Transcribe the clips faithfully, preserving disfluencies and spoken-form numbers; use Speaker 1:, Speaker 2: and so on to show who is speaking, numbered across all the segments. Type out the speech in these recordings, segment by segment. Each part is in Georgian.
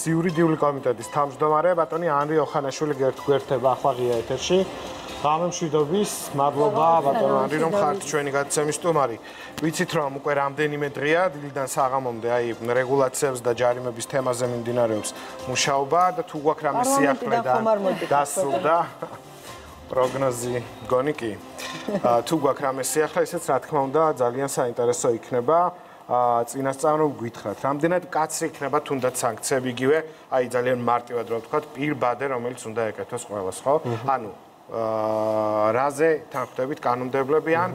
Speaker 1: იურიდიული კომიტეტის თავმჯდომარე ბატონი ანრი ოხანაშვილი გვერდება ახლა ღია ეთერში. გამემშვიდობის, მადლობა ბატონ ანრი რომ ხართ ჩვენი გადაცემის სტუმარი. ვიცით რომ უკვე რამდენიმე დღეა დილიდან საღამომდე აი რეგულაციებს და ჯარიმების თემაზე მიმდინარეობს მუშაობა და თუ გვაქვს რამე სიახლე და დასრულდა პროგნოზი გონი კი. თუ გვაქვს რამე სიახლე, ისეც რა თქმა უნდა ძალიან საინტერესო იქნება. წინასწარ რომ გითხრათ, რამდენად კაცრი იქნება თუნდაც სანქციები იგივე, აი ძალიან მარტივად რომ ვთქვათ, პირბადე რომელიც უნდა ეკეთოს ყველას, ხო? ანუ რაზე თანხმდებით კანონმდებლები ან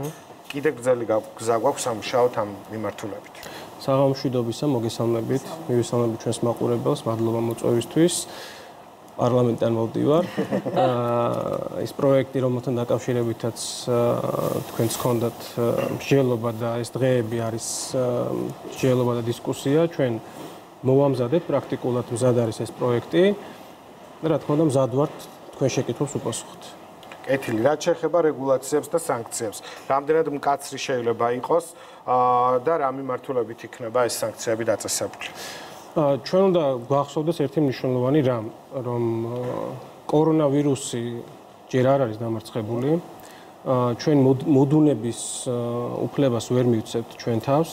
Speaker 1: კიდე გრძელი გზა გვაქვს სამუშაოთ ამ მიმართულებით.
Speaker 2: საღამომშვიდობისა, მოგესალმებით, მივესალმებით ჩვენს მაყურებელს, მადლობა მოწვევისთვის. პარლამენტიდან მოვდივარ. ეს პროექტი, რომელთან დაკავშირებითაც თქვენს ჰქონდათ მსჯელობა და ეს დღეები არის მსჯელობა და დისკუსია, ჩვენ მოვამზადეთ პრაქტიკულად მზად არის ეს პროექტი და რა თქმა უნდა მზად ვართ თქვენ შეკითხვებს უპასუხოთ.
Speaker 1: კეთილი, რაც შეეხება რეგულაციებს და სანქციებს, რამდენად მკაცრი შეიძლება იყოს და რა მიმართულებით იქნება ეს სანქციები დაწესებული?
Speaker 2: ჩვენ უნდა გვახსოვდეს ერთი მნიშვნელოვანი რამ, რომ კორონავირუსი ჯერ არ არის დამარცხებული. ჩვენ მოდუნების უფლებას ვერ მივცემთ ჩვენ თავს.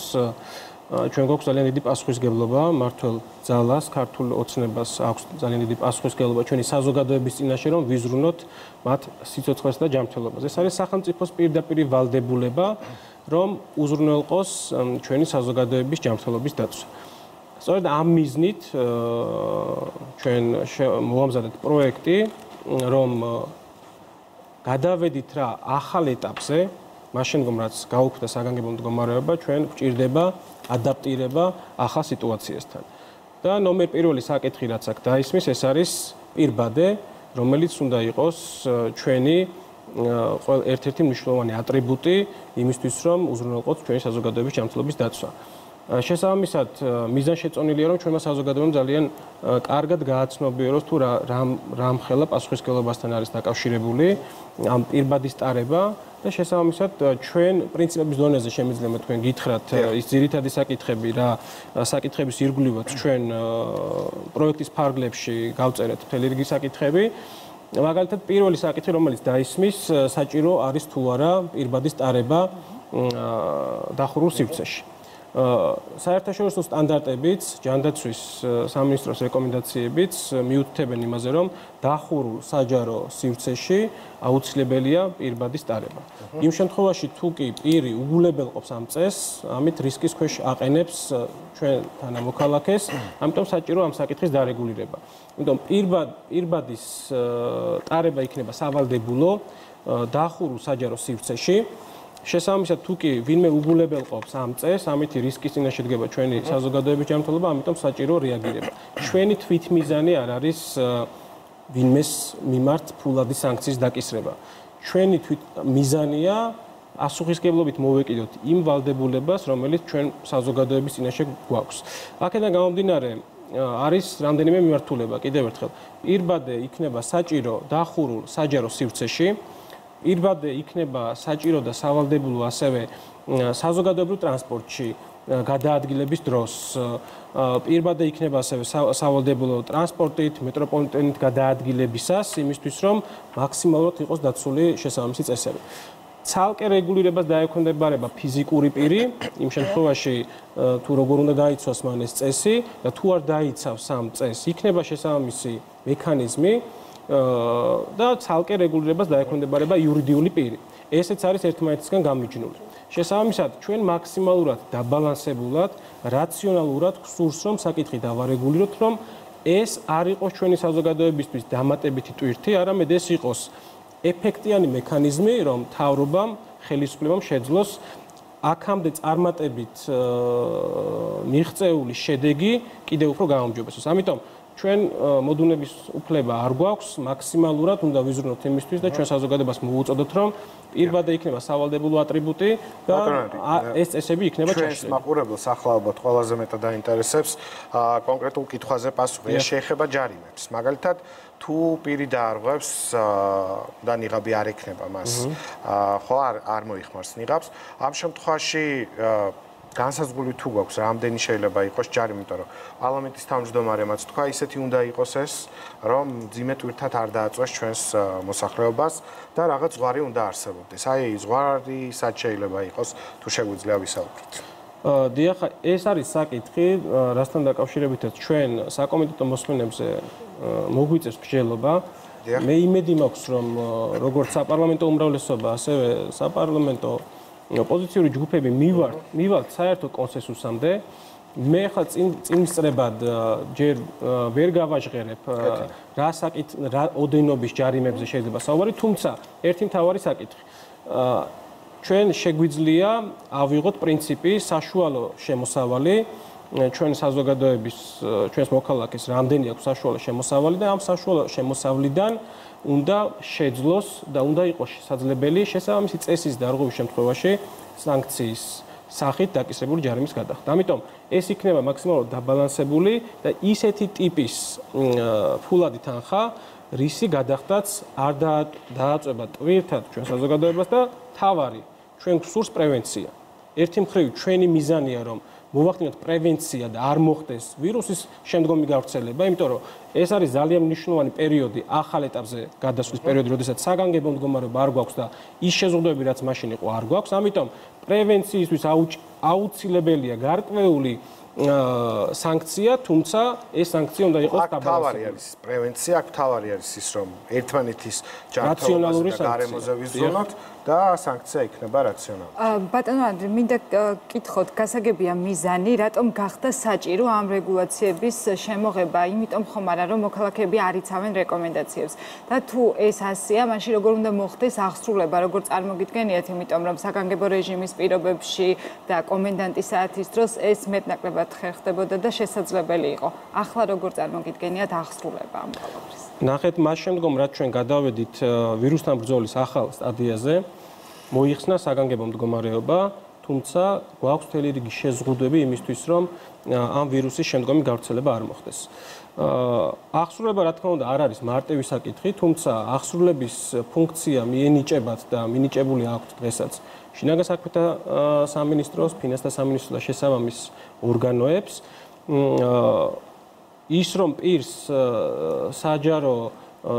Speaker 2: ჩვენ გვაქვს ძალიან დიდი პასუხისმგებლობა მართლ ძალას, ქართულ ოცნებას აქვს ძალიან დიდი პასუხისმგებლობა ჩვენი საზოგადოების წინაშე, რომ ვიზრუნოთ მათ სიცოცხლეს და ჯანმრთელობას. ეს არის სახელმწიფოს პირდაპირ ვალდებულება, რომ უზრუნველყოს ჩვენი საზოგადოების ჯანმრთელობის დაცვა. სწორედ ამ მიზნით ჩვენ მოვამზადეთ პროექტი, რომ გადავედით რა ახალ ეტაპზე, მაშინ რომ რაც გაუქმდა საგანგებო მდგომარეობა, ჩვენ გვჭირდება ადაპტირება ახალ სიტუაციასთან. და ნომერ პირველი საკითხი რაც აქ დაისმის, ეს არის პირბადე, რომელიც უნდა იყოს ჩვენი ერთ-ერთი მნიშვნელოვანი ატრიბუტი იმისთვის, რომ უზრუნველყოთ ჩვენი საზოგადოების ჯანმრთელობის დაცვა. შესაბამისად, მიზანშეწონილია, რომ ჩვენმა საზოგადოებამ ძალიან კარგად გააცნობიეროს თუ რა მხელა პასუხისმგებლობასთან არის დაკავშირებული ამ პირბადის ტარება და შესაბამისად ჩვენ პრინციპების დონეზე შემიძლია თქვენ გითხრათ ის ძირითადი საკითხები რა საკითხების ირგვლივაც ჩვენ პროექტის ფარგლებში გავწერეთ მთელი რიგი საკითხები. მაგალითად, პირველი საკითხი, რომელიც დაისმის, საჭირო არის თუ არა პირბადის ტარება დახურულ სივრცეში. საერთაშორისო სტანდარტებიც, ჯანდაცვის სამინისტროს რეკომენდაციებიც მიუთითებენ იმაზე, რომ დახურულ საჯარო სივრცეში აუცილებელია პირბადის ტარება. იმ შემთხვევაში, თუ კი პირი უგულებელყოფს ამ წესს, ამით რისკის ქვეშ აყენებს ჩვენ თანამოქალაქეს, ამიტომ საჭირო ამ საკითხის დარეგულირება. იმიტომ პირბადის ტარება იქნება სავალდებულო დახურულ საჯარო სივრცეში. შესაბამისად, თუ კი ვინმე უგულებელყოფს ამ წესს, ამითი რისკის წინაშე დგება ჩვენი საზოგადოების ჯანმრთელობა, ამიტომ საჭირო რეაგირება. ჩვენი თვითმიზანი არ არის ვინმეს მიმართ ფულადი სანქციის დაკისრება. ჩვენი თვითმიზანია პასუხისმგებლობით მოვეკიდოთ იმ ვალდებულებას, რომელიც ჩვენ საზოგადოების წინაშე გვაქვს. აქედან გამომდინარე, არის რამდენიმე მიმართულება, კიდევ ერთხელ. პირბადე იქნება საჭირო დახურულ საჯარო სივრცეში. პირბადე იქნება საჭირო და სავალდებულო ასევე საზოგადოებრივ ტრანსპორტში გადაადგილების დროს. პირბადე იქნება ასევე სავალდებულო ტრანსპორტით, მეტროპოლიტენით გადაადგილებისას, იმისთვის რომ მაქსიმალურად იყოს დაცული შესაბამისი წესები. ცალკე რეგულირებას დაექვემდებარება ფიზიკური პირი, იმ შემთხვევაში თუ როგორ უნდა გაიცვას მან ეს წესი და თუ არ დაიცავს ამ წესს, იქნება შესაბამისი მექანიზმი და ცალკე რეგულირებას დაექვემდებარება იურიდიული პირი. ესეც არის ერთმანეთისგან გამიჯნული. შესაბამისად, ჩვენ მაქსიმალურად დაბალანსებულად, რაციონალურად გვსურს, რომ საკითხი დავარეგულიროთ, რომ ეს არ იყოს ჩვენი საზოგადოებისთვის დამატებითი ტვირთი, არამედ ეს იყოს ეფექტიანი მექანიზმი, რომ მთავრობამ, ხელისუფლებამ შეძლოს აქამდე წარმატებით მიღწეული შედეგი კიდევ უფრო გაუმჯობესოს. ამიტომ ჩვენ მოდუნების უფლება არ გვაქვს, მაქსიმალურად უნდა ვიზრუნოთ იმისთვის და ჩვენ საზოგადოებას მოვუწოდოთ, რომ პირბადე იქნება სავალდებულო ატრიბუტი და ეს წესები იქნება ჩაშლილი.
Speaker 1: ჩვენს მაყურებელს ახლა ალბათ ყველაზე მეტად დაინტერესებს კონკრეტულ კითხვაზე პასუხი. ეს შეეხება ჯარიმებს. მაგალითად, თუ პირი დაარღვევს და ნიღაბი არ ექნება მას, ხო არ არ მოიხმარს ნიღაბს, ამ შემთხვევაში განსაზღვრული თუ გვაქვს რამდენი შეიძლება იყოს ჯარი, იმიტომ რომ პარლამენტის თავმჯდომარემაც თქვა, ისეთი უნდა იყოს ეს, რომ ძიმე ტვირთად არ დააწვეს ჩვენს მოსახლეობას და რაღაც ზღვარი უნდა არსებობდეს. აი, ზღვარი სად შეიძლება იყოს, თუ შეგვიძლია ვისაუბროთ.
Speaker 2: დიახ, ეს არის საკითხი, რასთან დაკავშირებითაც ჩვენ საკომიტეტო მოსმენებზე მოგვიწევს მსჯელობა. მე იმედი მაქვს, რომ როგორც საპარლამენტო უმრავლესობა, ასევე საპარლამენტო ოპოზიციური ჯგუფები მივართ, მივართ საერთო კონსენსუსამდე. მე ხა წინსწრებად ჯერ ვერ გავაჟღერებ რა საკითხ რა ოდენობის ჯარიმებზე შეიძლება საუბარი, თუმცა ერთი მთავარი საკითხი. ჩვენ შეგვიძლია ავიღოთ პრინციპი საშუალო შემოსავალი, ჩვენ საზოგადოების ჩვენს მოქალაქეს რამდენი აქვს საშუალო შემოსავალი და ამ საშუალო შემოსავლიდან უნდა შეძლოს და უნდა იყოს შესაძლებელი შესაბამისი წესის დარღვევის შემთხვევაში სანქციის სახით დაკისრებული ჯარიმის გადახდა. ამიტომ ეს იქნება მაქსიმალურად დაბალანსებული და ისეთი ტიპის ფულადი თანხა, რისი გადახდაც არ დააწვება ტვირთად ჩვენ საზოგადოებას და თავარი ჩვენ გვსურს პრევენცია. ერთი მხრივ ჩვენი მიზანია რომ მოვახდინოთ პრევენცია და არ მოხდეს ვირუსის შემდგომი გავრცელება, იმიტომ რომ ეს არის ძალიან მნიშვნელოვანი პერიოდი ახალ ეტაპზე გადასვლის პერიოდი, როდესაც საგანგებო მდგომარეობა არ გვაქვს და ის შეზღუდვები, რაც მაშინ იყო, არ გვაქვს. ამიტომ პრევენციისთვის აუცილებელია გარკვეული სანქცია, თუმცა ეს სანქცია უნდა იყოს
Speaker 1: დაბალანსებული. არის პრევენცია, აქ თავარი არის ის, რომ ერთმანეთის ჯანმრთელობაზე და გარემოზე ვიზრუნოთ და სანქცია იქნება რაციონალური.
Speaker 3: ბატონო ანდრე, მინდა კითხოთ, გასაგებია მიზანი, რატომ გახდა საჭირო ამ რეგულაციების შემოღება, იმიტომ ხომ არა, რომ მოქალაქეები არ იცავენ რეკომენდაციებს. და თუ ეს ასეა, მაშინ როგორ უნდა მოხდეს აღსრულება, როგორ წარმოგიდგენიათ, იმიტომ რომ საგანგებო რეჟიმის პირობებში და კომენდანტის საათის დროს ეს მეტნაკლებად ხერხდებოდა და შესაძლებელი იყო. ახლა როგორ წარმოგიდგენიათ აღსრულება ამ ყველაფრის?
Speaker 2: ნახეთ, მას შემდგომ რაც ჩვენ გადავედით ვირუსთან ბრძოლის ახალ სტადიაზე, მოიხსნა საგანგებო მდგომარეობა, თუმცა გვაქვს მთელი რიგი შეზღუდვები იმისთვის, რომ ამ ვირუსის შემდგომი გავრცელება არ მოხდეს. აღსრულება, რა თქმა უნდა, არ არის მარტივი საკითხი, თუმცა აღსრულების ფუნქცია მიენიჭებათ და მინიჭებული აქვთ დღესაც შინაგან საქმეთა სამინისტროს, ფინანსთა სამინისტროს და შესაბამის ორგანოებს. ის რომ პირს საჯარო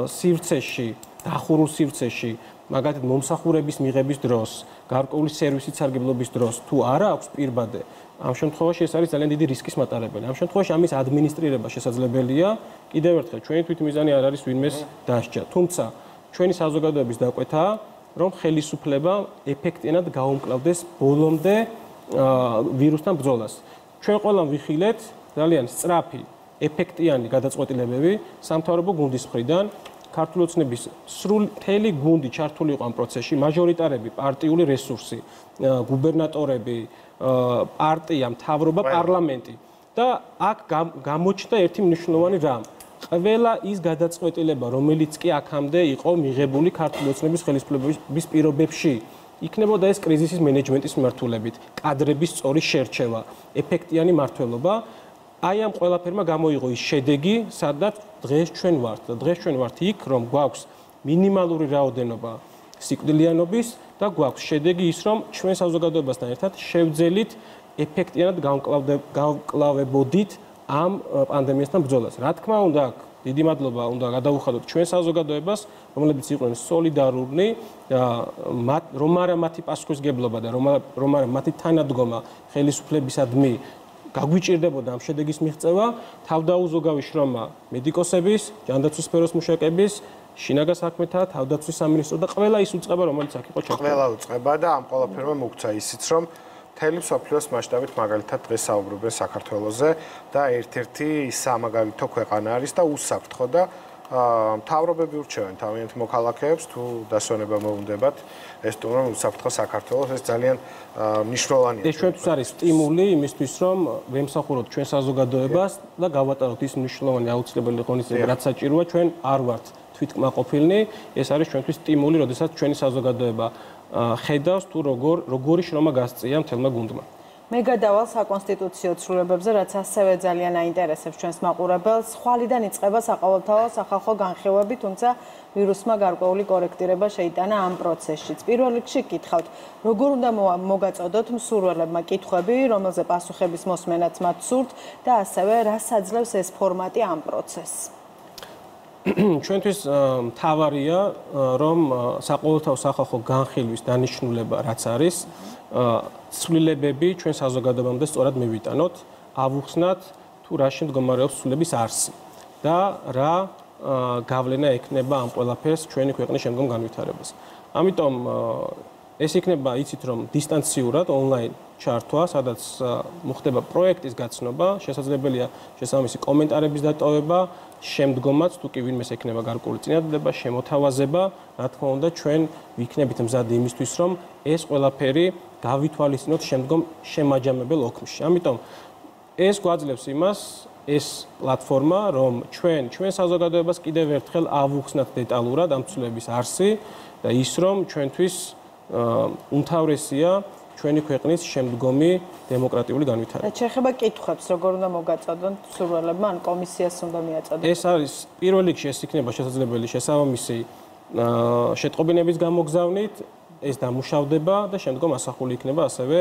Speaker 2: სივრცეში, დახურულ სივრცეში, მაგალითად მომსახურების მიღების დროს, გარკვეული სერვისით სარგებლობის დროს თუ არა აქვს პირბადე, ამ შემთხვევაში ეს არის ძალიან დიდი რისკის მატარებელი. ამ შემთხვევაში ამის ადმინისტრირება შესაძლებელია. კიდევ ერთხელ, ჩვენი თვითმიზანი არ არის ვინმეს დასჯა. თუმცა ჩვენი საზოგადოების დაკვეთაა, რომ ხელისუფლება ეფექტიანად გაუმკლავდეს ბოლომდე ვირუსთან ბრძოლას. ჩვენ ყველამ ვიხილეთ ძალიან სწრაფი ეფექტიანი გადაწყვეტილებები სამთავრობო გუნდის მხრიდან, ქართული ოცნების სრული მთელი გუნდი ჩართული იყო ამ პროცესში, მაჟორიტარები, პარტიული რესურსი, გუბერნატორები, პარტია, მთავრობა, პარლამენტი და აქ გამოჩნდა ერთი მნიშვნელოვანი რამ. ყველა ის გადაწყვეტილება, რომელიც კი აქამდე იყო მიღებული ქართული ოცნების ხელისუფლების პირობებში, იქნებოდა ეს კრიზისის მენეჯმენტის მიმართულებით, კადრების სწორი შერჩევა, ეფექტიანი მმართველობა. აი ამ ყველაფერმა გამოიღო ის შედეგი, სადაც დღეს ჩვენ ვართ. დღეს ჩვენ ვართ იქ, რომ გვაქვს მინიმალური რაოდენობა სიკვდილიანობის და გვაქვს შედეგი ის, რომ ჩვენ საზოგადოებასთან ერთად შევძელით ეფექტიანად გავკლავებოდით ამ პანდემიასთან ბრძოლას. რა თქმა უნდა, დიდი მადლობა უნდა გადავუხადოთ ჩვენ საზოგადოებას, რომლებიც იყვნენ სოლიდარული, რომ არა მათი პასუხისგებლობა და რომ არა მათი თანადგომა ხელისუფლებისადმი გაგვიჭირდებოდა ამ შედეგის მიღწევა, თავდაუზოგავი შრომა მედიკოსების, ჯანდაცვის სფეროს მუშაკების, შინაგან საქმეთა, თავდაცვის სამინისტრო და ყველა ის უწყება, რომელიც აქ იყო ჩართული.
Speaker 1: ყველა უწყება და ამ ყველაფერმა მოგცა ისიც, რომ მთელი მსოფლიოს მასშტაბით მაგალითად დღეს საუბრობენ საქართველოზე და ერთ-ერთი სამაგალითო ქვეყანა არის და უსაფრთხო და მთავრობები ურჩევენ თავიანთ მოქალაქეებს თუ დასვენება მოუნდებათ ეს თუ რომ უსაფრთხო საქართველოს ეს ძალიან მნიშვნელოვანია.
Speaker 2: ეს ჩვენთვის არის სტიმული იმისთვის რომ ვემსახუროთ ჩვენ საზოგადოებას და გავატაროთ ის მნიშვნელოვანი აუცილებელი ღონისძიება რაც საჭიროა ჩვენ არ ვართ თვითკმაყოფილნი ეს არის ჩვენთვის სტიმული როდესაც ჩვენი საზოგადოება ხედავს თუ როგორ როგორი შრომა გასწია მთელმა გუნდმა.
Speaker 4: მე გადავალ საკონსტიტუციო ცვლილებებზე, რაც ასევე ძალიან აინტერესებს ჩვენს მაყურებელს. ხვალიდან იწყება საყოველთაო სახალხო განხილვები, თუმცა ვირუსმა გარკვეული კორექტირება შეიტანა ამ პროცესშიც. პირველ რიგში გითხავთ, როგორ უნდა მოგაწოდოთ მსურველებმა კითხვები, რომელზე პასუხების მოსმენაც მათ სურთ და ასევე რას აძლევს ეს ფორმატი ამ პროცესს?
Speaker 2: ჩვენთვის მთავარია, რომ საყოველთაო სახალხო განხილვის დანიშნულება რაც არის, ცვლილებები ჩვენ საზოგადოებამდე სწორად მივიტანოთ, ავუხსნათ თუ რაში მდგომარეობს ცვლილების არსი და რა გავლენა ექნება ამ ყველაფერს ჩვენი ქვეყნის შემდგომ განვითარებას. ამიტომ ეს იქნება, იცით რომ დისტანციურად ონლაინ ჩართვა, სადაც მოხდება პროექტის გაცნობა, შესაძლებელია შესაბამისი კომენტარების დატოვება, შემდგომაც თუ კი ვინმეს ექნება გარკვეული წინადადება, შემოთავაზება, რა თქმა უნდა, ჩვენ ვიქნებით მზად იმისთვის, რომ ეს ყველაფერი გავითვალისწინოთ შემდგომ შემაჯამებელ ოქმში. ამიტომ ეს გვაძლევს იმას, ეს პლატფორმა, რომ ჩვენ ჩვენ საზოგადოებას კიდევ ერთხელ ავუხსნათ დეტალურად ამ ცვლილების არსი და ის რომ ჩვენთვის უმთავრესია ჩვენი ქვეყნის შემდგომი დემოკრატიული განვითარება.
Speaker 4: შეეხება კითხვებს, როგორ უნდა მოგაწოდონ მსურველებმა, ან კომისიას უნდა მიაწოდონ?
Speaker 2: ეს არის პირველ რიგში ეს იქნება შესაძლებელი შესაბამისი შეტყობინების გამოგზავნით, ეს დამუშავდება და შემდგომ ასახული იქნება ასევე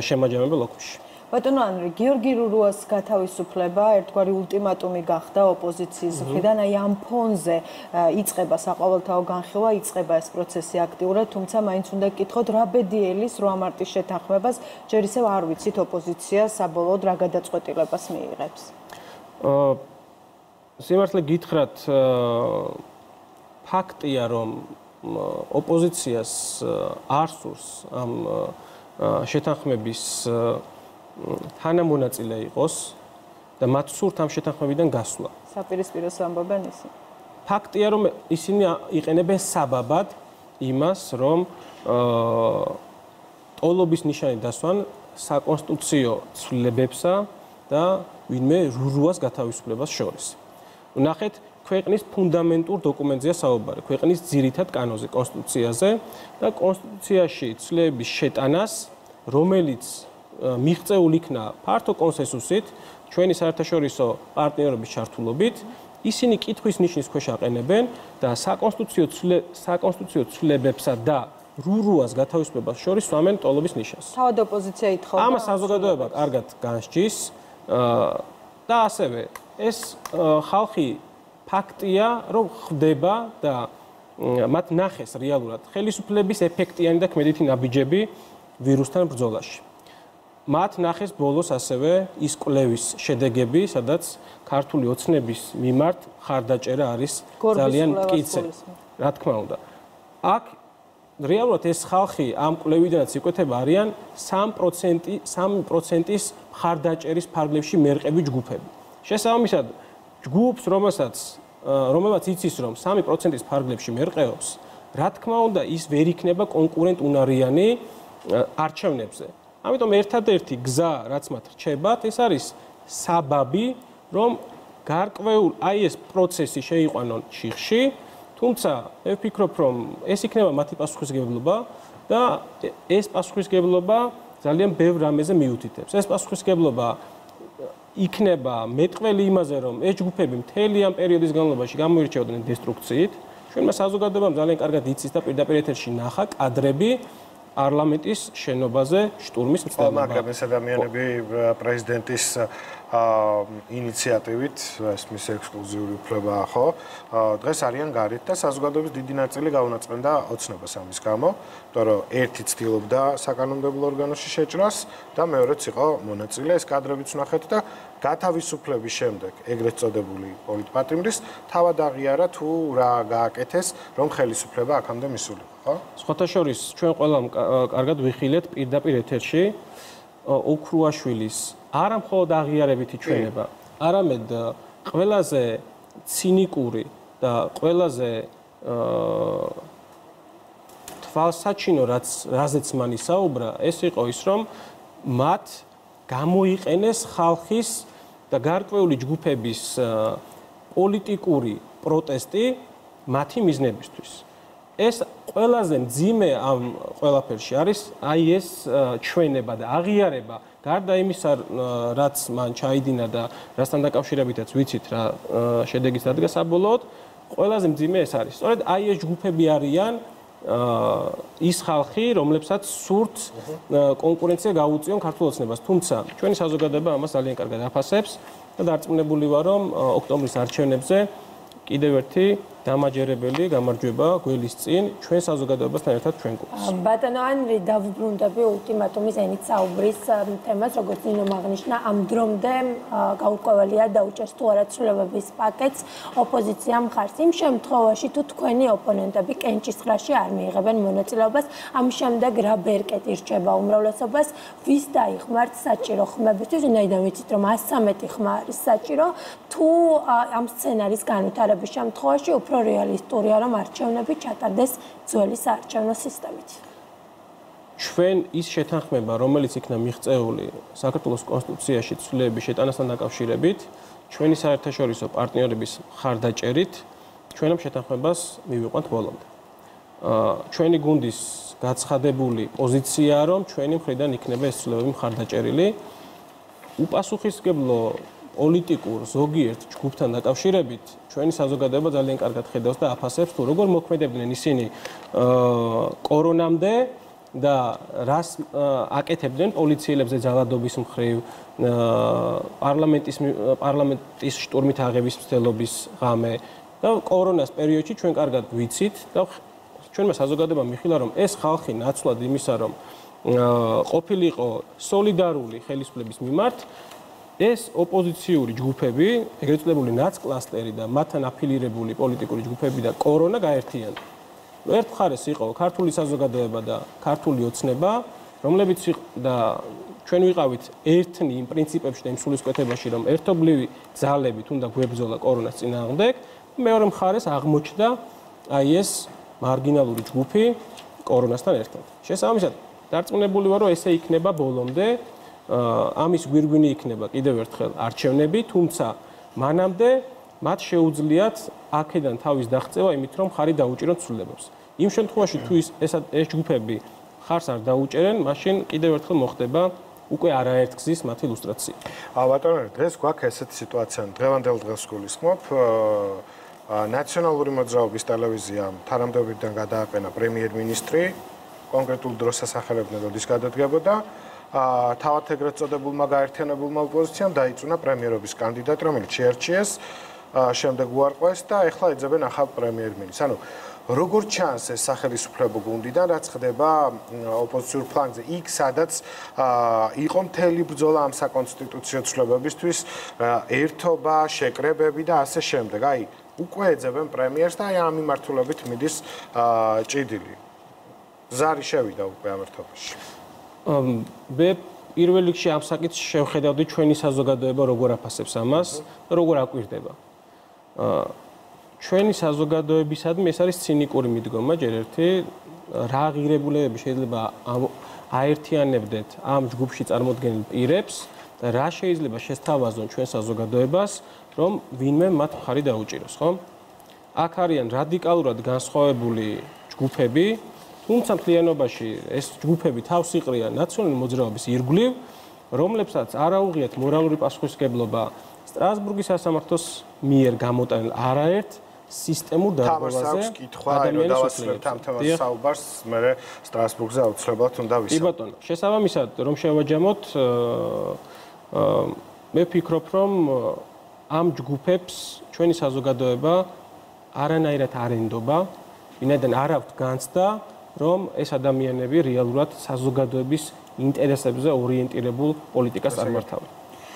Speaker 2: შემაჯამებელ ოქმში.
Speaker 4: ბატონო ანრი, გიორგი რურუას გათავისუფლება ერთგვარი ულტიმატუმი გახდა ოპოზიციის მხრიდან, აი ამ ფონზე იწყება საყოველთაო განხილვა, იწყება ეს პროცესი აქტიურად, თუმცა მაინც უნდა გკითხოთ, რა ბედიელის რვა მარტის შეთანხმებას ჯერ ისევ არ ვიცით ოპოზიცია საბოლოოდ რა გადაწყვეტილებას მიიღებს.
Speaker 2: სიმართლე გითხრათ, ფაქტია, რომ ოპოზიციას არ სურს ამ შეთანხმების თანამონაწილე იყოს და მათ სურთ ამ შეთანხმებიდან გასვლა.
Speaker 4: საპირისპიროს ამბობენ ისინი.
Speaker 2: ფაქტია, რომ ისინი იყენებენ საბაბად იმას, რომ ტოლობის ნიშანი დასვან საკონსტიტუციო ცვლილებებსა და ვინმე რურუას გათავისუფლებას შორის. ნახეთ, ქვეყნის ფუნდამენტურ დოკუმენტზეა საუბარი, ქვეყნის ძირითად კანონზე, კონსტიტუციაზე და კონსტიტუციაში ცვლილებების შეტანას, რომელიც მიღწეულ იქნა ფართო კონსენსუსით, ჩვენი საერთაშორისო პარტნიორების ჩართულობით, ისინი კითხვის ნიშნის ქვეშ აყენებენ და საკონსტიტუციო საკონსტიტუციო ცვლილებებსა და რურუას გათავისუფლებას შორის სვამენ ტოლობის ნიშანს.
Speaker 4: თავად ოპოზიცია ითხოვდა.
Speaker 2: ამას საზოგადოება კარგად განსჯის და ასევე ეს ხალხი ფაქტია, რომ ხდება და მათ ნახეს რეალურად ხელისუფლების ეფექტიანი და ქმედითი ნაბიჯები ვირუსთან ბრძოლაში. მათ ნახეს ბოლოს ასევე ის კვლევის შედეგები, სადაც ქართული ოცნების მიმართ ხარდაჭერა არის ძალიან მტკიცე. რა თქმა უნდა. აქ რეალურად ეს ხალხი ამ კვლევიდანაც იკვეთება არიან სამი პროცენტის ხარდაჭერის ფარგლებში მერყევი ჯგუფები. შესაბამისად, ჯგუფს, რომელსაც რომელმაც იცის, რომ სამი პროცენტის ფარგლებში მერყეობს, რა თქმა უნდა, ის ვერ იქნება კონკურენტუნარიანი არჩევნებზე. ამიტომ ერთადერთი გზა, რაც მათ რჩებათ, ეს არის საბაბი, რომ გარკვეულ აი ეს პროცესი შეიყვანონ ჩიხში, თუმცა მე ვფიქრობ, რომ ეს იქნება მათი პასუხისმგებლობა და ეს პასუხისმგებლობა ძალიან ბევრ რამეზე მიუთითებს. ეს პასუხისმგებლობა იქნება მეტყველი იმაზე, რომ ეს ჯგუფები მთელი ამ პერიოდის განმავლობაში გამოირჩეოდნენ დესტრუქციით. ჩვენმა საზოგადოებამ ძალიან კარგად იცის და პირდაპირ ეთერში ნახა კადრები პარლამენტის შენობაზე შტურმის მცდელობა.
Speaker 1: მაგრამ ეს ადამიანები პრეზიდენტის ინიციატივით, ეს მის ექსკლუზიური უფლებაა, ხო? დღეს არიან გარეთ და საზოგადოების დიდი ნაწილი გაუნაწყვეტა ოცნებას ამის გამო, იმიტომ რომ ერთი ცდილობდა საკანონმდებლო ორგანოში შეჭრას და მეორეც იყო მონაწილე. ეს კადრებიც ვნახეთ და გათავისუფლების შემდეგ ეგრეთ წოდებული პოლიტპატიმრის თავად აღიარა თუ რა გააკეთეს, რომ ხელისუფლება აქამდე მისულიყო, ხო?
Speaker 2: სხვათა შორის ჩვენ ყველამ კარგად ვიხილეთ პირდაპირ ეთერში ოქრუაშვილის არა მხოლოდ აღიარებითი ჩვენება, არამედ ყველაზე ცინიკური და ყველაზე თვალსაჩინო, რაც რაზეც მან ისაუბრა, ეს იყო ის, რომ მათ გამოიყენეს ხალხის და გარკვეული ჯგუფების პოლიტიკური პროტესტი მათი მიზნებისთვის. ეს ყველაზე მძიმე ამ ყველაფერში არის აი ეს ჩვენება და აღიარება გარდა იმისა რაც მან ჩაიდინა და რასთან დაკავშირებითაც ვიცით რა შედეგის დადგა საბოლოოდ ყველაზე მძიმე ეს არის სწორედ აი ეს ჯგუფები არიან ის ხალხი რომლებსაც სურთ კონკურენცია გაუწიონ ქართულ ოცნებას თუმცა ჩვენი საზოგადოება ამას ძალიან კარგად აფასებს და დარწმუნებული ვარ რომ ოქტომბრის არჩევნებზე კიდევ ერთი დამაჯერებელი გამარჯვება გველის წინ ჩვენ საზოგადოებასთან ერთად ჩვენ გულს.
Speaker 5: ბატონო ანრი დავუბრუნდები ულტიმატუმის ენით საუბრის თემას, როგორც ნინომ აღნიშნა, ამ დრომდე გაურკვეველია დაუჭერს თუ არა ცვლილებების პაკეტს ოპოზიცია მხარს. იმ შემთხვევაში თუ თქვენი ოპონენტები კენჭისყრაში არ მიიღებენ მონაწილეობას, ამ შემდეგ რა ბერკეტი რჩება უმრავლესობას, ვის დაიხმართ საჭირო ხმებისთვის, ვინაიდან ვიცით რომ ას ცხრამეტი ხმა არის საჭირო, თუ ამ სცენარის განვითარების შემთხვევაში უფრო რეალისტურია რომ არჩევნები ჩატარდეს ძველი საარჩევნო სისტემით.
Speaker 2: ჩვენ ის შეთანხმება, რომელიც იქნა მიღწეული საქართველოს კონსტიტუციაში ცვლილების შეტანასთან დაკავშირებით, ჩვენი საერთაშორისო პარტნიორების მხარდაჭერით, ჩვენ ამ შეთანხმებას მივიყვანთ ბოლომდე. ჩვენი გუნდის გაცხადებული პოზიციაა, რომ ჩვენი მხრიდან იქნება ეს ცვლილებები მხარდაჭერილი. უპასუხისმგებლო პოლიტიკურ ზოგიერთ ჯგუფთან დაკავშირებით ჩვენი საზოგადოება ძალიან კარგად ხედავს და აფასებს თუ როგორ მოქმედებდნენ ისინი კორონამდე და რას აკეთებდნენ პოლიციელებზე ძალადობის მხრივ პარლამენტის პარლამენტის შტურმით აღების მცდელობის ღამე და კორონას პერიოდში ჩვენ კარგად ვიცით და ჩვენმა საზოგადოებამ მიხილა რომ ეს ხალხი ნაცვლად იმისა რომ ყოფილიყო სოლიდარული ხელისუფლების მიმართ ეს ოპოზიციური ჯგუფები, ეგრეთ წოდებული ნაცკლასტერი და მათთან აფილირებული პოლიტიკური ჯგუფები და კორონა გაერთიანდა. ერთ მხარეს იყო ქართული საზოგადოება და ქართული ოცნება, რომლებიც და ჩვენ ვიყავით ერთნი იმ პრინციპებში და იმ სულისკვეთებაში, რომ ერთობლივი ძალებით უნდა გვებრძოლა კორონას წინააღმდეგ, მეორე მხარეს აღმოჩნდა აი ეს მარგინალური ჯგუფი კორონასთან ერთად. შესაბამისად, დარწმუნებული ვარ, რომ ესე იქნება ბოლომდე. ამის გვირგვინი იქნება კიდევ ერთხელ არჩევნები, თუმცა მანამდე მათ შეუძლიათ აქედან თავის დაღწევა იმით, რომ ხარი დაუჭირონ ცვლილებებს. იმ შემთხვევაში თუ ეს ეს ჯგუფები ხარს არ დაუჭერენ, მაშინ კიდევ ერთხელ მოხდება უკვე არაერთგზის მათი ილუსტრაცია.
Speaker 1: ბატონო, დღეს გვაქვს ესეთი სიტუაცია, დღევანდელ დღეს გულისხმობ, ნაციონალური მოძრაობის ტელევიზიამ თანამდებობიდან გადააყენა პრემიერ-მინისტრი, კონკრეტულ დროს ასახელებდნენ, როდის გადადგებოდა. თავად ეგრეთ წოდებულმა გაერთიანებულმა ოპოზიციამ დაიწუნა პრემიერობის კანდიდატი, რომელიც შეარჩიეს, შემდეგ უარყვეს და ეხლა ეძებენ ახალ პრემიერ-მინისტრს. ანუ როგორ ჩანს ეს სახელმწიფო გუნდიდან, რაც ხდება ოპოზიციურ ფლანგზე, იქ სადაც იყო მთელი ბრძოლა ამ საკონსტიტუციო ცვლილებებისთვის, ერთობა, შეკრებები და ასე შემდეგ. აი, უკვე ეძებენ პრემიერს და აი ამ მიმართულებით მიდის ჭიდილი. ზარი შევიდა უკვე ამ ერთობაში.
Speaker 2: მე პირველ რიგში ამ საკითხს შევხედავდი ჩვენი საზოგადოება როგორ აფასებს ამას და როგორ აკვირდება. ჩვენი საზოგადოებისადმი ეს არის ცინიკური მიდგომა ჯერ ერთი რა ღირებულებები შეიძლება აერთიანებდეთ ამ ჯგუფში წარმოდგენილ პირებს და რა შეიძლება შესთავაზონ ჩვენ საზოგადოებას რომ ვინმე მათ მხარი დაუჭიროს, ხო? აქ არიან რადიკალურად განსხვავებული ჯგუფები თუმცა მთლიანობაში ეს ჯგუფები თავს იყრიან ნაციონალური მოძრაობის ირგვლივ, რომლებსაც არ აუღიათ მორალური პასუხისმგებლობა სტრასბურგის სასამართლოს მიერ გამოტანილ არაერთ სისტემურ დარღვევაზე.
Speaker 1: თამაშს კითხვა, რომ დავასრულებთ ამ თემას საუბარს, მე სტრასბურგზე აუცილებლად უნდა ვისაუბროთ.
Speaker 2: კი ბატონო, შესაბამისად რომ შევაჯამოთ, მე ვფიქრობ, რომ ამ ჯგუფებს ჩვენი საზოგადოება არანაირად არ ენდობა, ვინაიდან არ აქვთ განცდა რომ ეს ადამიანები რეალურად საზოგადოების ინტერესებზე ორიენტირებულ პოლიტიკას წარმართავენ.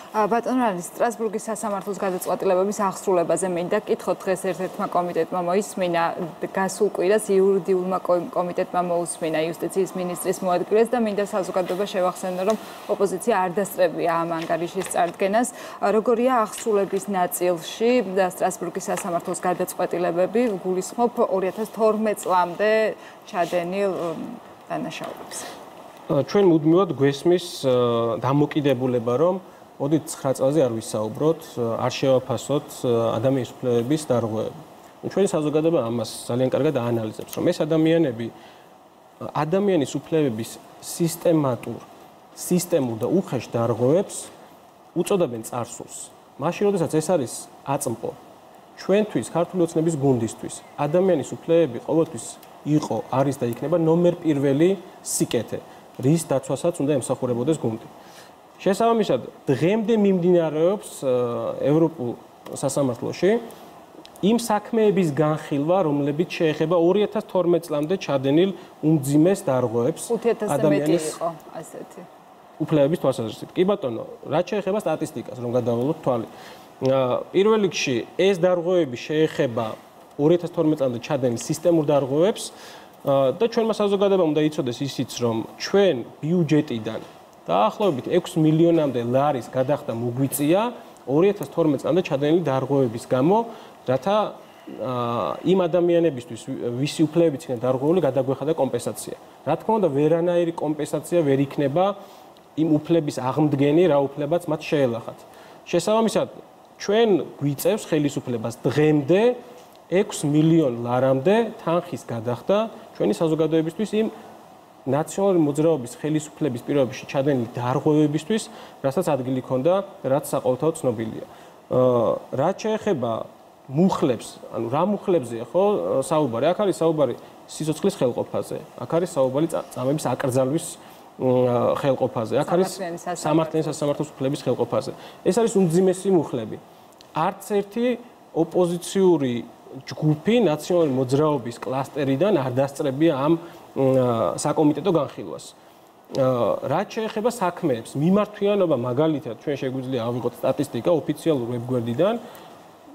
Speaker 3: ბატონო არის სტრასბურგის სასამართლოს გადაწყვეტილებების აღსრულებაზე მინდა კითხოთ დღეს ერთ-ერთმა კომიტეტმა მოისმინა გასულ კვირას იურიდიულმა კომიტეტმა მოусმინა იუსტიციის მინისტრის მოადგილეს და მინდა საზოგადოება შევახსენო რომ ოპოზიცია არ დასწრებია ამ ანგარიშის წარდგენას როგორია აღსრულების ნაწილში და სტრასბურგის სასამართლოს გადაწყვეტილებები გულისხმობ ორი ათას თორმეტ წლამდე ჩადენილ დანაშაულებს.
Speaker 2: ჩვენ მუდმივად გვესმის დამოკიდებულება რომ მოდით ცხრა წელზე არ ვისაუბროთ, არ შევაფასოთ ადამიანის უფლებების დარღვევები. ჩვენი საზოგადოება ამას ძალიან კარგად აანალიზებს, რომ ეს ადამიანები ადამიანის უფლებების სისტემატურ, სისტემურ და უხეშ დარღვევებს უწოდებენ წარსულს. მაშინ, როდესაც ეს არის აწმყო, ჩვენთვის, ქართული ოცნების გუნდისთვის, ადამიანის უფლებები ყოველთვის იყო, არის და იქნება ნომერ პირველი სიკეთე, რის დაცვასაც უნდა ემსახურებოდეს გუნდი. შესაბამისად, დღემდე მიმდინარეობს ევროპულ სასამართლოში იმ საქმეების განხილვა, რომლებიც შეეხება ორი ათას თორმეტ წლამდე ჩადენილ უმძიმეს დარღვევებს
Speaker 3: ადამიანის იყო ასეთი
Speaker 2: უფლებების თვალსაზრისით. კი ბატონო, რაც შეეხება სტატისტიკას, რომ გადავალოთ თვალი. პირველ რიგში ეს დარღვევები შეეხება ორი ათას თორმეტ წლამდე ჩადენილ სისტემურ დარღვევებს და ჩვენმა საზოგადოებამ უნდა იცოდეს ისიც, რომ ჩვენ ბიუჯეტიდან დაახლოებით ექვსი მილიონამდე ლარის გადახდა მოგვიწია ორი ათას თორმეტ წლამდე ჩადენილი დარღვევების გამო, რათა იმ ადამიანებისთვის, ვისი უფლებებიც იქნება დარღვეული, გადაგვეხადა კომპენსაცია. რა თქმა უნდა, ვერანაირი კომპენსაცია ვერ იქნება იმ უფლების აღმდგენი, რა უფლებაც მათ შეელახათ. შესაბამისად, ჩვენ გვიწევს ხელისუფლებას დღემდე ექვსი მილიონ ლარამდე თანხის გადახდა ჩვენი საზოგადოებისთვის იმ ნაციონალური მოძრაობის ხელისუფლების პირობებში ჩადენილი დარღვევებისთვის, რასაც ადგილი ჰქონდა, რაც საყოველთაოდ ცნობილია. რაც შეეხება მუხლებს, ანუ რა მუხლებზეა ხო საუბარი? აქ არის საუბარი სიცოცხლის ხელყოფაზე, აქ არის საუბარი წამების აკრძალვის ხელყოფაზე, აქ არის სამართლიანი სასამართლოს უფლების ხელყოფაზე. ეს არის უმძიმესი მუხლები. არც ერთი ოპოზიციური ჯგუფი ნაციონალური მოძრაობის კლასტერიდან არ დასწრებია ამ საკომიტეტო განხილვას. რაც შეეხება საქმეებს, მიმართვიანობა მაგალითად ჩვენ შეგვიძლია ავიღოთ სტატისტიკა ოფიციალურ ვებგვერდიდან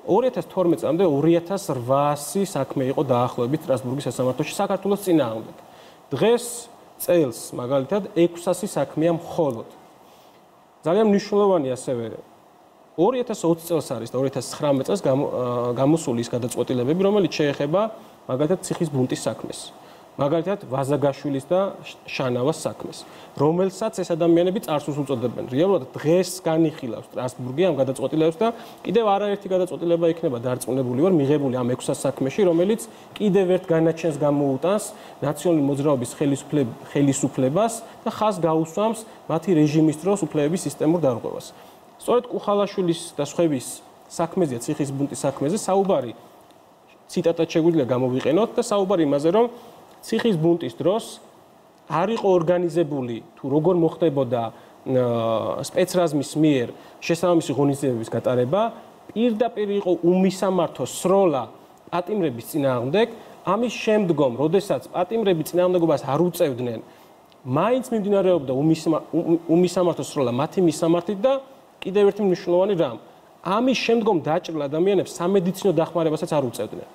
Speaker 2: ორი ათას თორმეტ წლამდე ორი ათას რვაასი საქმე იყო დაახლოებით სტრასბურგის სასამართლოში საქართველოს წინააღმდეგ. დღეს წელს მაგალითად ექვსასი საქმეა მხოლოდ. ძალიან მნიშვნელოვანი ასევე ორი ათას ოცი წელს არის და ორი ათას ცხრამეტ წელს გამოსული ის გადაწყვეტილებები, რომელიც შეეხება მაგალითად ციხის ბუნტის საქმეს. მაგალითად ვაზაგაშვილის და შანავას საქმეს, რომელსაც ეს ადამიანები წარსულს უწოდებენ. რეალურად დღეს განიხილავს სტრასბურგი ამ გადაწყვეტილებებს და კიდევ არაერთი გადაწყვეტილება იქნება დარწმუნებული ვარ მიღებული ამ ექვსას საქმეში, რომელიც კიდევ ერთ განაჩენს გამოუტანს ნაციონალური მოძრაობის ხელისუფლებას და ხაზს გაუსვამს მათი რეჟიმის დროს უფლებების სისტემურ დარღვევას. სწორედ კუხალაშვილის და სხვების საქმეზეა ციხის ბუნტის საქმეზე საუბარი ციტატად შეგვიძლია გამოვიყენოთ და საუბარი იმაზე, რომ ციხის ბუნტის დროს არ იყო ორგანიზებული თუ როგორ მოხდებოდა სპეცრაზმის მიერ შესაბამისი ღონისძიებების გატარება, პირდაპირ იყო უმისამართო სროლა პატიმრების წინააღმდეგ, ამის შემდგომ, როდესაც პატიმრები წინააღმდეგობას არ უწევდნენ, მაინც მიმდინარეობდა უმისამართო სროლა მათი მისამართით და კიდევ ერთი მნიშვნელოვანი რამ, ამის შემდგომ დაჭრილ ადამიანებს სამედიცინო დახმარებასაც არ უწევდნენ.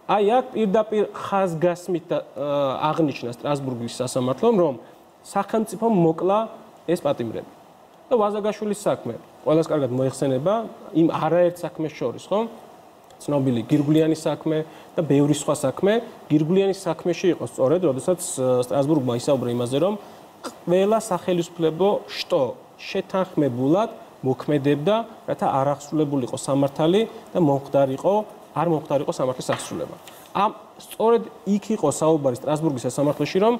Speaker 2: აი აქ პირდაპირ ხაზგასმით აღნიშნა სტრასბურგის სასამართლომ, რომ სახელმწიფომ მოკლა ეს პატიმრები. და ვაზაგაშვილის საქმე ყველას კარგად მოიხსენება იმ არაერთ საქმეს შორის, ხო? ცნობილი გირგვლიანის საქმე და ბევრი სხვა საქმე. გირგვლიანის საქმეში იყო სწორედ, როდესაც სტრასბურგმა ისაუბრა იმაზე, რომ ყველა სახელისუფლებო შტო შეთანხმებულად მოქმედებდა, რათა არ აღსრულებულიყო სამართალი და მომხდარიყო არ მომხდარიყო სამართლის აღსრულება. ამ სწორედ იქ იყო საუბარი სტრასბურგის სასამართლოში, რომ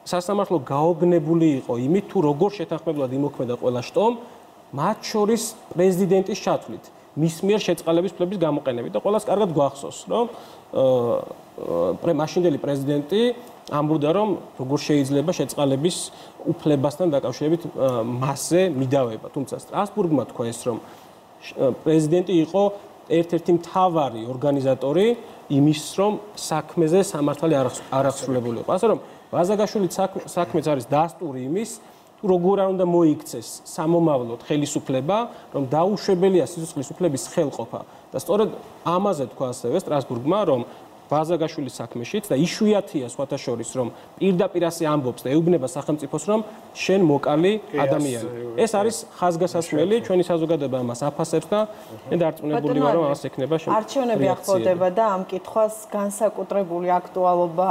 Speaker 2: სასამართლო გაოგნებული იყო იმით, თუ როგორ შეთანხმებულად იმოქმედა ყველა შტომ, მათ შორის პრეზიდენტის ჩათვლით, მის მიერ შეწყალების უფლების გამოყენებით და ყველას კარგად გვახსოვს, რომ მაშინდელი პრეზიდენტი ამბობდა, რომ როგორ შეიძლება შეწყალების უფლებასთან დაკავშირებით მასზე მიდავება. თუმცა სტრასბურგმა თქვა ეს, რომ პრეზიდენტი იყო ერთ-ერთი მთავარი ორგანიზატორი იმის, რომ საქმეზე სამართალი არ აღსრულებული იყო. ასე რომ ვაზაგაშვილის საქმეც არის დასტური იმის, თუ როგორ არ უნდა მოიქცეს სამომავლოდ ხელისუფლება, რომ დაუშვებელია სიცოცხლის უფლების ხელყოფა და სწორედ ამაზე თქვა ასევე სტრასბურგმა, რომ ბაზაგაშვილის საქმეშიც და იშვიათია სხვათა შორის რომ პირდაპირ ასე ამბობს და ეუბნება სახელმწიფოს რომ შენ მოკალი ადამიანი. ეს არის ხაზგასასმელი, ჩვენი საზოგადოება ამას აფასებს და მე დარწმუნებული ვარ რომ ამას ექნება შემდგომი.
Speaker 4: არჩევნები ახლოვდება და ამ კითხვას განსაკუთრებული აქტუალობა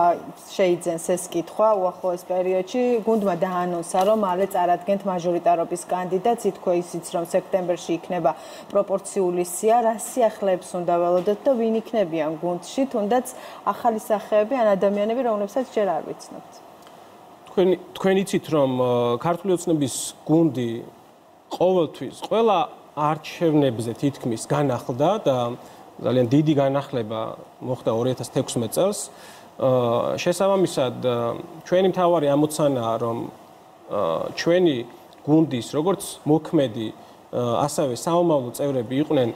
Speaker 4: შეიძენს ეს კითხვა უახლოეს პერიოდში. გუნდმა დაანონსა რომ მალე წარადგენთ მაჟორიტარობის კანდიდატს, ითქვა ისიც რომ სექტემბერში იქნება პროპორციული სია, რა სიახლეებს უნდა ველოდოთ და ვინ იქნებიან გუნდში, თუნდაც ახალი სახეები ან ადამიანები, რომლებსაც ჯერ არ ვიცნობთ.
Speaker 2: თქვენ თქვენ იცით რომ ქართული ოცნების გუნდი ყოველთვის ყველა არჩევნებზე თითქმის განახლდა და ძალიან დიდი განახლება მოხდა ორი ათას თექვსმეტ წელს. შესაბამისად ჩვენი მთავარი ამოცანაა რომ ჩვენი გუნდის როგორც მოქმედი ასევე საომავლო წევრები იყვნენ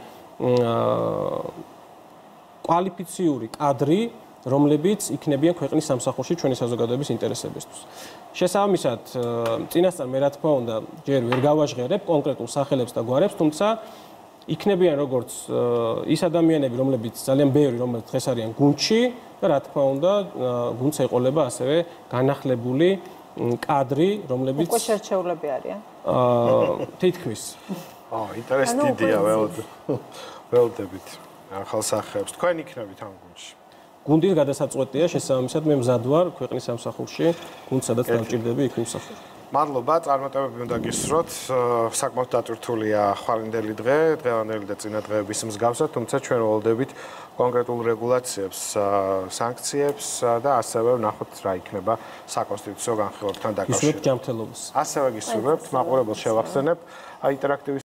Speaker 2: კვალიფიციური კადრი, რომლებიც იქნებიან ქვეყნის სამსახურში ჩვენი საზოგადოების ინტერესებისთვის. შესაბამისად, წინასწარ მე რა თქმა უნდა, ჯერ ვერ გავაჟღერებ კონკრეტულ სახელებს და გვარებს, თუმცა იქნებიან როგორც ის ადამიანები, რომლებიც ძალიან ბევრი, რომლებიც დღეს არიან გუნდში და რა თქმა უნდა, გუნდს ეყოლება ასევე განახლებული კადრი, რომლებიც
Speaker 4: უკვე შერჩეულები არიან.
Speaker 2: აა თითქმის.
Speaker 1: აა, ინტერესი დიდია, ველოდებით. ახალ სახეებს თქვენ იქნებით ამ გუნდში.
Speaker 2: გუნდის გადასაწყვეტია შესაბამისად მე მზად ვარ ქვეყნის სამსახურში, გუნდს სადაც დავჭირდები იქ ვიმსახურებ.
Speaker 1: მადლობა, წარმატებები უნდა გისურვოთ. საკმაოდ დატვირთულია ხვალინდელი დღე, დღევანდელი და წინა დღეების მსგავსად, თუმცა ჩვენ ველოდებით კონკრეტულ რეგულაციებს, სანქციებს და ასევე ვნახოთ რა იქნება საკონსტიტუციო განხილვებთან დაკავშირებით.
Speaker 2: გისურვებთ ჯანმრთელობას.
Speaker 1: ასევე გისურვებთ, მაყურებელს შევახსენებ, ინტერაქტივის